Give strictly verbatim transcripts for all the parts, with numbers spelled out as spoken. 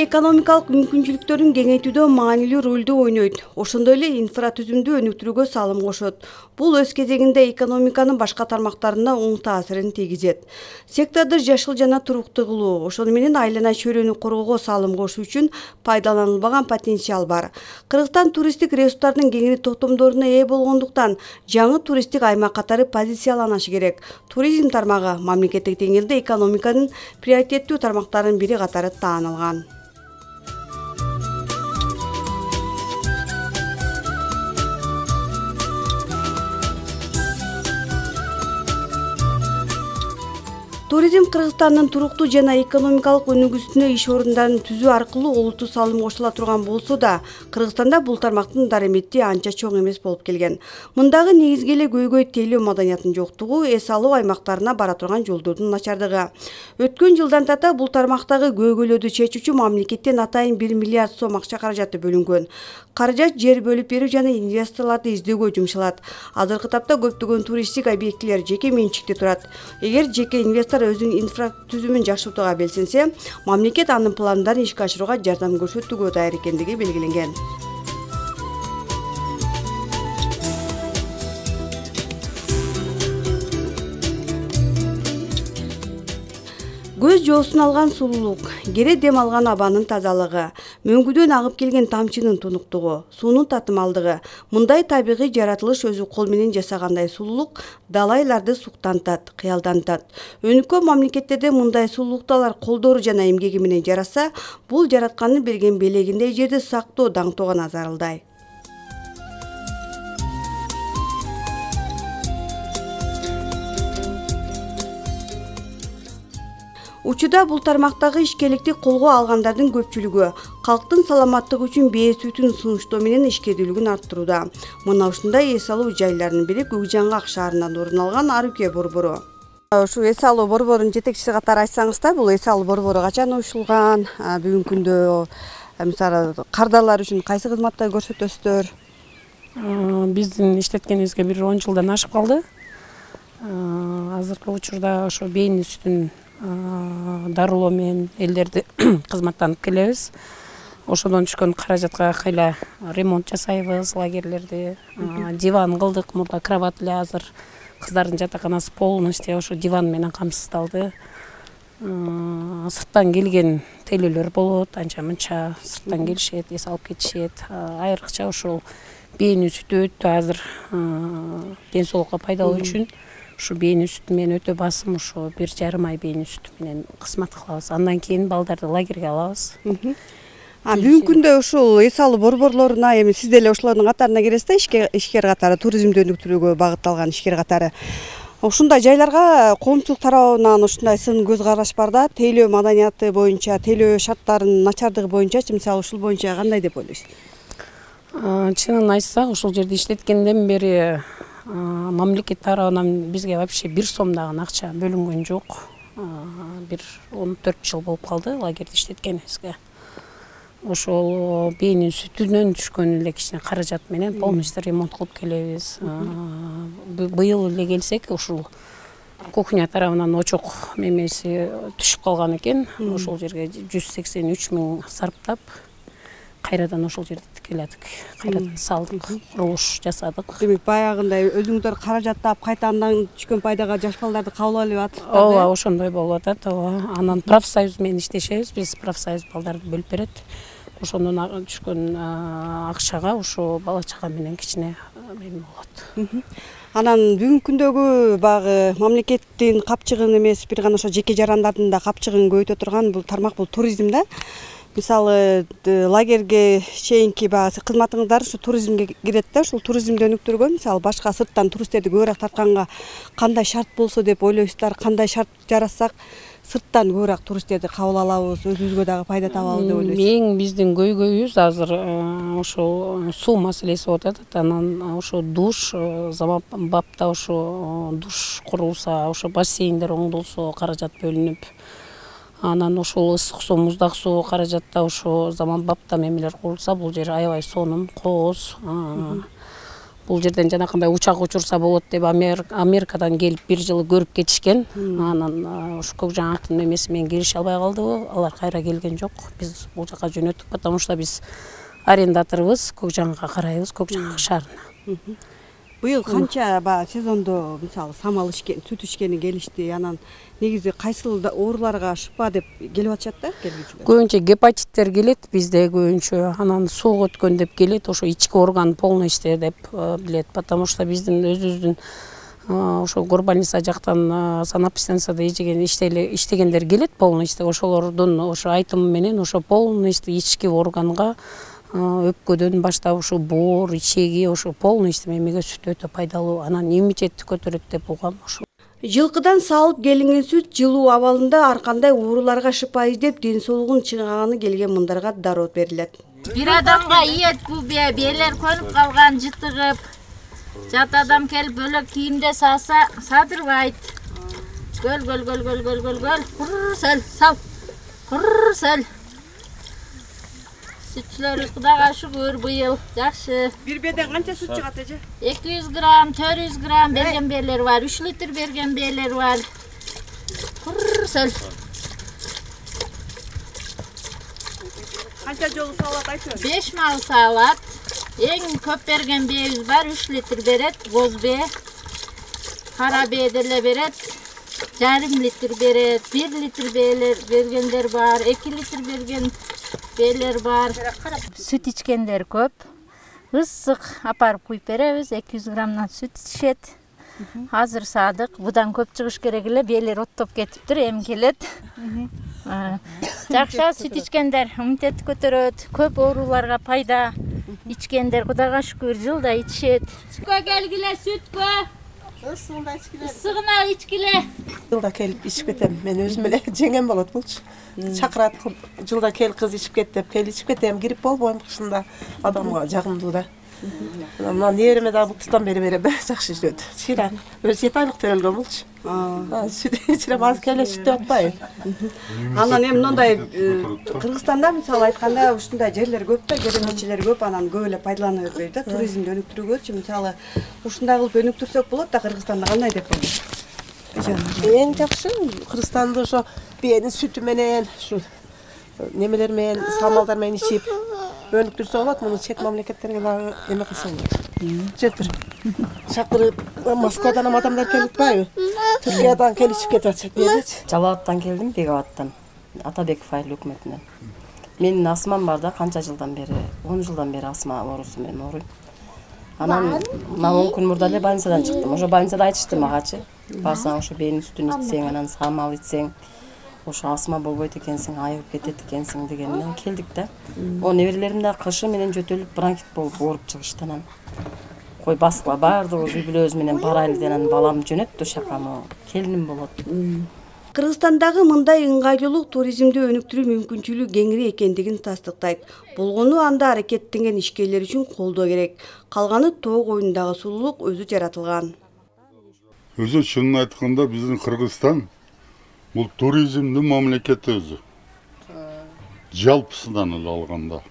экономикалык мүмкүнчүлүктөрүн кеңейтүүдө маанилүү ролду ойнойт. Ошондой эле инфратүзүмдү өнүктүрүүгө салым кошот. Бул өз кезегинде экономиканын башка тармактарына оң таасирин тийгизет. Секторду жашыл жана туруктуу кылуу, ошону менен айлана чөйрөнү коргоого салым кошуу үчүн пайдаланылбаган потенциал бар. Кыргызстан туристтик ресурстардын кеңири токтомдоруна ээ болгондуктан жаңы туристтик аймак катары позицияланышы керек. Туризм тармагы мамлекеттик деңгээлде экономиканын приоритеттүү тармактарынын бири катары таанылган. Туризм Кыргызстандын туруктуу жана экономикалык өнүгүүсүнө иш орундарын түзүү аркылуу олуттуу салым кошула турган болсо да, Кыргызстанда бул тармактын дарамети анча чоң эмес болуп келген. Мындагы негизги эле көйгөй тейлөө маданиятынын жоктугу, эс алуу аймактарына бара турган жолдордун начардыгы. Өткөн жылдан тарта бул тармактагы көйгөйлөрдү чечүүчү мамлекеттен атайын бир миллиард сом акча каражаты бөлүнгөн. Каражат жер бөлүп берүү жана инвесторлорду издөөгө жумшалат. Азыркы тапта көптөгөн туристтик объектилер жеке менчикте турат. Эгер жеке инвестор өзүнүн инфратүзүмүн жакшыртууга белсенсе, мамлекет анын пландарын ишке ашырууга жардам көрсөтүүгө даяр экендиги белгиленген. Көз жоосун алган сулуулук, кере дем алган абанын тазалыгы, мөңгүдөн агып келген тамчынын тунуктугу, суунун татымалдыгы. Мындай табигый жаратылыш өзү кол менен жасагандай сулуулук далайларды суктантат, кыялдантат. Өнүккөн мамлекеттерде мындай сулуулукталар колдору жана эмгеги менен жараса, бул жараткандын берген белегиндей жерди сактоо, даңтоого назарылдай. Учурда бул тармактагы ишкерликти колго алгандардын көпчүлүгү калктын саламаттыгы үчүн бээ сүтүн сунуштоо менен ишкердүүлүгүн арттырууда. Мына ушундай эс алуу жайларынын бири Көкжаңгак шаарынан орун алган Арыке борбору. Ушу эс алуу борборунун жетекчиси катары айтсаңызда, бул эс алуу борбору качан уюшулган, бүгүнкү күндө мисалы кардарлар үчүн кайсы кызматтар көрсөтөсүздөр? Биздин иштеткенибизге бир он жылдан ашып калды. Азыркы учурда ошо бэйнин сүтүн дарылоо менен элдерди кызматтанып келебиз. Ошодон түшкөн каражатка кайла ремонт жасайбыз, лагерлерди, диван кылдык, мурда кровать эле азыр кыздардын жатаканасы полностью ошо диван менен камсыздалды. Сырттан келген тейлөөлөр болот, анча мынча сырттан келишет, эс алып кетишет. Айрыкча ошол бэйнин сүтү өтө азыр ден соолукка пайдалуу үчүн ушу бэйнин сүтү менен өтө басым, ушу бир жарым ай бэйнин сүтү менен кызмат кылабыз. Андан кийин балдарды лагерге алабыз. Бүгүнкү күндө ушул эс алуу борборлоруна эми сиз деле ошолордун катарына киресиз да, ишкер катары, туризмди өнүктүрүүгө багытталган ишкер катары. Ушундай жайларга коомчулук тарабынан ушундай сын көз караш бар да, тейлөө маданияты боюнча, тейлөө шарттарынын начардыгы боюнчачы, мисалы ушул боюнча кандай деп ойлойсуз? Чынын айтсак, ушул жерде иштеткенден бери мамлекет тарабынан бизге вообще бир сом дагы акча бөлүнгөн жок. Бир он төрт жыл болуп калды лагерде иштеткенибизге. Ошол бэйнин сүтүнөн түшкөн эле кичине каражат менен полностью ремонт кылып келебиз. Быйыл эле келсек, ушул кухня тарабынан очок мемеси түшүп калган экен. Ошол жерге жүз сексен үч миң сарптап, кайрадан ошол жерди тикеледик, кайрадан салдык, курулуш жасадык. Демек баягындай өзүңүздөр каражаттап, кайта андан түшкөн пайдага жаш балдарды кабыл алып атасыздар. Ооба, ошондой болуп атат. Ооба. Анан профсоюз менен иштешебиз. Биз профсоюз балдарды бөлүп берет. Ошондон түшкөн акчага ушу бала чага менен кичине эме болот. Анан бүгүнкү күндөгү багы мамлекеттин капчыгын эмес, бир гана ошо жеке жарандардын да капчыгын көбөйтө турган бул тармак, бул туризм да. Мисалы лагерге чейинки багы кызматыңыздар ушу туризмге кирет да, ушул туризмди өнүктүрүүгө мисалы башка сырттан туристтерди көбүрөөк тартканга кандай шарт болсо деп ойлойсуздар, кандай шарт жарассак сырттан көбүрөөк туристтерди кабыл алабыз, өзүбүзгө дагы пайда табабыз деп ойлойсуз? Эң биздин көйгөйүбүз азыр ошол суу маселеси болуп атат. Анан ошо душ, заманбапта ошо душ курулса, ошо бассейндер оңдолсо, каражат бөлүнүп, анан ошол ысык суу, муздак суу каражатта ошо заманбапта мемелер курулса, бул жер аябай сонун, кооз. бул жерден жанакындай учак учурса болот деп Америкадан келип бир жыл көрүп кетишкен. Анан ушу көк жаңактын немеси менен келише албай калдыбы, алар кайра келген жок. Биз бул жака жөнөттүк, потому что биз арендаторбуз, көк жаңга карайбыз, көк жаңак шаарына. Быйыл канча баягы сезондо мисалы самал ичкен, сүт ичкени келишти. Анан негизи кайсыл ооруларга шыпа деп келип атышат да келүүчүлөр? Көбүнчө гепатиттер келет бизде көбүнчө. Анан суук өткөн деп келет, ошо ички орган полный иштер деп билет. Потому что биздин өзүбүздүн ошо горбольница жактан санэпидстанцияда ичеген иштегендер келет полный иштеп. Ошолордун ошо айтымы менен ошо полный ички органга өпкөдөн баштап ушу боор, ичеги ошо полный эмеге сүт өтө пайдалуу. Анан иммунитетти көтөрөт деп угам ошо. Жылкыдан салып келинген сүт жылуу абалында ар кандай ооруларга шыпа издеп, ден соолугун чыңгаганы келген мындарга дароо берилет. Бир адамга ийет бу белер көнүп калган, жытыгып, жат адам келип бөлөк кийимде сааса садырбайт. Гөл гөл гөл гөл гөл гөл гөл курсел сал. Курсел. Sütçülörüz Кудайга шүгүр быйыл жакшы. Бир беден канча сүт чыгат эже? эки жүз грамм, төрт жүз грамм берген бээлер бар, үч литр берген бээлер бар. Курсел. Канча жолу салат айтып? беш мал салат. Эң көп берген бээбиз бар, үч литр берет, боз бээ. Кара бээ деле берет. Жарым литр берет, бир литр бээлер бергендер бар, эки литр берген бээлер бар. Сүт ичкендер көп. Ысык апарып куюп беребиз, эки жүз граммдан сүт ичет. Азыр саадык, будан көп чыгыш керек эле, бээлер оттоп кетиптир, эми келет. Жакшы сүт ичкендер иммунитетти көтөрөт, көп ооруларга пайда. Ичкендер Кудайга шүгүр жылда ичет. Сүткө келгиле, сүткө. Ысыгында ичкиле. Ысыгына ичкиле. Жылда келип ичип кетем. Мен өзүм эле жеңем болот булчу. Чакырат, жылда кел кыз ичип кет деп, кел ичип кетем. Кирип болбойм кышында. Адамга жагымдуу да. Мына небереме да бултуктан бери берем. Жакшы жүрөт. Чыйра өзү жети айлык төрөлгөн булчу. Аа, сүт ичирем, азыр келе сүт атпайбы. Анан эми мындай Кыргызстанда мисалы айтканда ушундай жерлер көп да, керемечилер көп, анан көп эле пайдалана бербейт да, туризмди өнүктүрүүгөчү. Мисалы ушундай кылып өнүктүрсөк болот да, Кыргызстанда кандай деп ойлойсуз? Эң жакшы Кыргызстанды ошо бээнин сүтү менен, ушу немелер менен, самалдар менен ичип өнүктүрсө болот. Муну чет мамлекеттерге дагы эме кылса болот. Жетир. Чакырып, Москвадан ham адамдар келип атпайбы? Түркиядан келип ичип кетип атышат бээчи. Жалал абадтан келдим, Бекабаттан. Атабеков айыл өкмөтүнөн. Менин астмам бар да, канча жылдан бери, он жылдан бери астма оорусу менен ооруйм. Анан мына он күн мурда эле больницадан чыктым. Ошо больницада айтышты магачы. Барсаң ошо бээнин сүтүн ичсең, анан самал ичсең, ошо астма болбойт экенсиң, айыгып кетет экенсиң дегенден келдик да. О неберелерим да кышы менен жөтөлүп бронхит болуп ооруп чыгышты. Анан кой баскыла баардыгыбыз үй бүлөбүз менен барайлы деген балам жөнөттү шакамы, келиним болот. Кыргызстандагы мындай ыңгайлуулук туризмди өнүктүрүү мүмкүнчүлүгү кеңири экендигин тастыктайт. Болгону анда аракеттенген ишкерлер үчүн колдоо керек. Калганы тоо коюндагы сулуулук өзү жаратылган. Өзү чынын айтканда биздин Кыргызстан бул туризмдин мамлекети өзү. Жалпысынан эле алганда.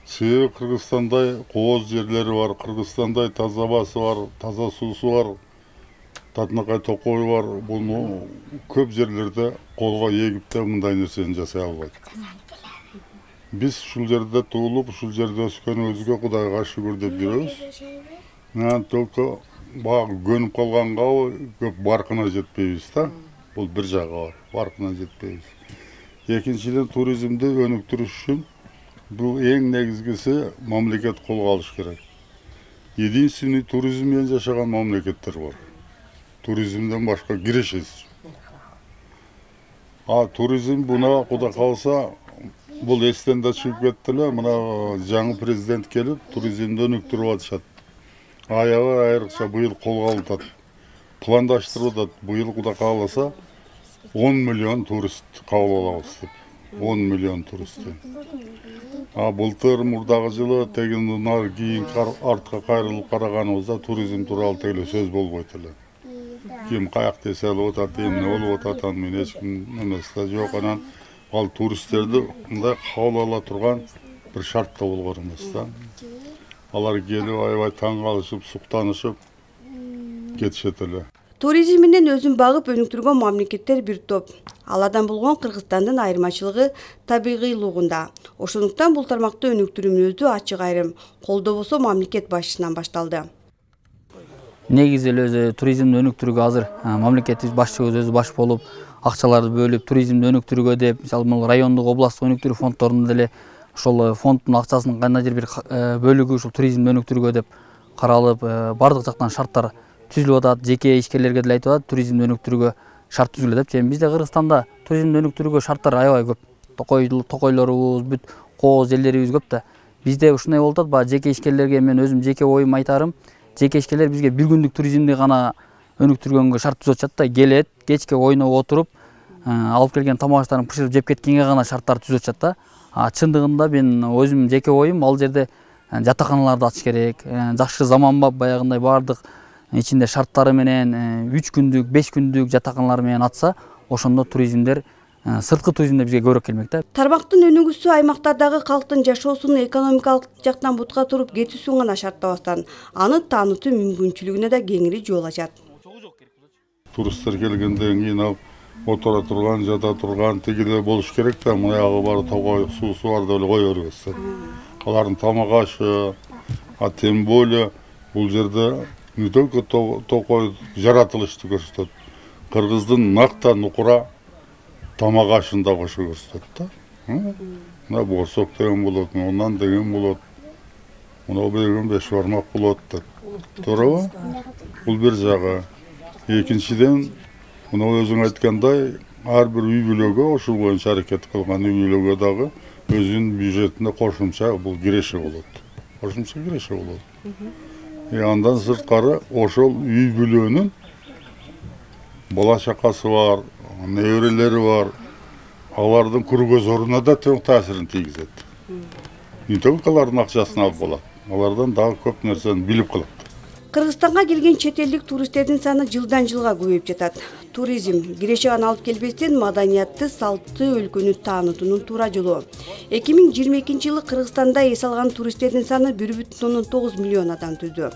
Себеби Кыргызстандай кооз жерлери бар, Кыргызстандай таза абасы бар, таза суусу бар, Татынакай токою бар. Буну көп жерлерде колго эгип да мындай нерсени жасай албайт. Биз ушул жерде туулуп, ушул жерде өскөнүбүзгө Кудайга шүгүр деп жүрөбүз. Анан только баягы көнүп калганга көп баркына жетпейбиз да. Бул бир жагы бар, баркына жетпейбиз. Экинчиден, туризмди өнүктүрүш үчүн бул эң негизгиси мамлекет колго алыш керек. Единственный туризм менен жашаган мамлекеттер бар. Туризмден башка кирешесиз. А туризм буна Кудай калса бул эстен да чыгып кетти эле. Мына жаңы президент келип туризмди өнүктүрүп атышат. Аябай айрыкча быйыл колго алып атат. Пландаштырып атат. Быйыл Кудай кааласа он миллион турист кабыл алабыз деп. он миллион турист. А былтыр мурдагы жылы тегин нар кийин артка кайрылып караганыбызда туризм тууралуу тегле сөз болбойт эле. Ким каякта эселип атат, эмне болуп атат, аны мен эч ким эмес да жок. Анан ал туристтерди мындай кабыл ала турган бир шарт да болгон эмес да. алар келип аябай таң калышып, суктанышып кетишет эле. Туризм менен өзүн багып өнүктүргөн мамлекеттер бир топ. Алардан болгон Кыргызстандын айырмачылыгы табигыйлыгында. Ошондуктан бул тармакты өнүктүрүүбүздү ачык айрым колдобосо мамлекет башчысынан башталды. Негизи эле өзү туризмди өнүктүрүүгө азыр мамлекетибиз башчыбыз өзү баш болуп, акчаларды бөлүп, туризмди өнүктүрүүгө деп, мисалы бул райондук, областтык өнүктүрүү фонддорунда деле ошол фонддун акчасынын кандайдыр бир бөлүгү ушул туризмди өнүктүрүүгө деп каралып, бардык жактан шарттар түзүлүп атат. Жеке ишкерлерге деле айтып атат, туризмди өнүктүрүүгө шарт түзүлө деп. Жана бизде Кыргызстанда туризмди өнүктүрүүгө шарттар аябай көп. Токой токойлорубуз, бүт кооз жерлерибиз көп да. Бизде ушундай болуп атат, баягы жеке ишкерлерге мен өзүм жеке оюм айтарым. Жеке ишкерлер бизге бир күндүк туризмди гана өнүктүргөнгө шарт түзүп атышат да. Келет, кечке ойноп отуруп, алып келген тамак аштарын бышырып жеп кеткенге гана шарттар түзүп атышат да. А чындыгында мен өзүм жеке оюм ал жерде жатаканаларды ачыш керек. Жакшы заманбап баягындай бардык ичинде шарттары менен үч күндүк, беш күндүк жатаканалар менен атса, ошондо туризмдер сырткы туризмдер бизге көбүрөөк келмек да. Тармактын өнүгүүсү аймактардагы калктын жашоосун экономикалык жактан бутка туруп кетүүсүн гана шарттабастан, аны таанытуу мүмкүнчүлүгүнө да кеңири жол ачат. Туристтер келгенден кийин алып отура турган, жата турган тигиде болуш керек да, мыягы бар тогой суусу бар деп эле кое бербес. Алардын тамак ашы, а тем более бул жерде не только токой жаратылышты көрсөтөт, кыргыздын накта нукура тамак ашын да кошо көрсөтөт да. Мына борсок деген болот, ондан деген болот, мына деген беш бармак болот деп. Туурабы? Бул бир жагы. Экинчиден, мына өзүң айткандай, ар бир үй бүлөгө ошол боюнча аракет кылган үй бүлөгө дагы өзүнүн бюджетине кошумча бул киреши болот. Кошумча киреши болот. И андан сырткары ошол үй бүлөнүн бала чакасы бар, неберелери бар, алардын кыргызоруна да тең таасирин тийгизет. Не только алардын акчасын алып болот, алардан дагы көп нерсени билип калат. Кыргызстанга келген чет элдик туристтердин саны жылдан жылга көбөйүп жатат. Туризм киреше гана алып келбестен маданиятты, салтты өлкөнү таанытуунун туура жолу. эки миң жыйырма экинчи жылы Кыргызстанда эс алган туристтердин саны бир бүтүн ондон тогуз миллион адам түздү.